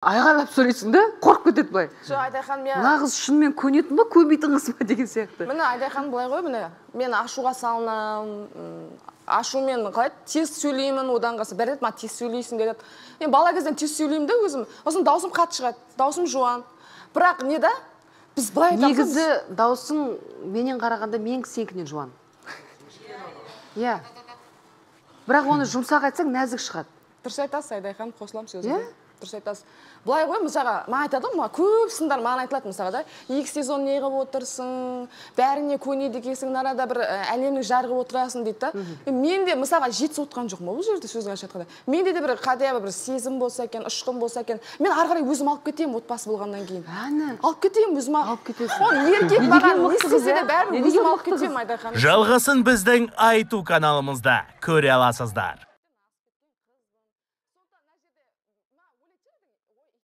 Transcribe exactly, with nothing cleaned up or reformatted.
Айғайлап сөйлейсің да, қорқып кетеді былай. Жоқ, Айдархан, мен мына қыз шынымен көнетін ба, көнбейтін қыз ба деген сияқты. Міне Айдархан былай ғой, міне мен ашуға салынамын, ашумен қалай тез сөйлеймін, одан қалса бір рет ма тез сөйлейсің деді. Мен бала кезден тез сөйлеймін да өзім. Сосын даусым қатты шығады, даусым жуан. Бірақ не да? Біз былай айтамыз. Негізі даусың менен қарағанда мен сенікінен жуан. Иә. Бірақ оны жұмсақ айтсаң нәзік шығады. Дұрыс айтасыз, Айдархан, қосыламын сөзіңізге. Дұрыс айтасыз. Былай ғой, мысалға, маған айтады ғой, көп сындар маған айтылады мысалға да. Екі сезон не қылып отырсың, бәріне көнеді екенсің, арада бір әлемнің жарығы отырасың дейді да. Мен де мысалға жетісіп отқан жоқпын бұл жерде сөз қайша айтқанда. Менде де бір қадия бір сезім болса екен, ұшқын болса екен, мен ары қарай өзім алып кетемін отбасы болғаннан кейін. Әні. Алып кетемін өзім алып кетесің. Ол еркек маған не істесе де бәрін өзім алып кетемін, Айдархан. Жалғасын біздің айту каналымызда көре аласыздар.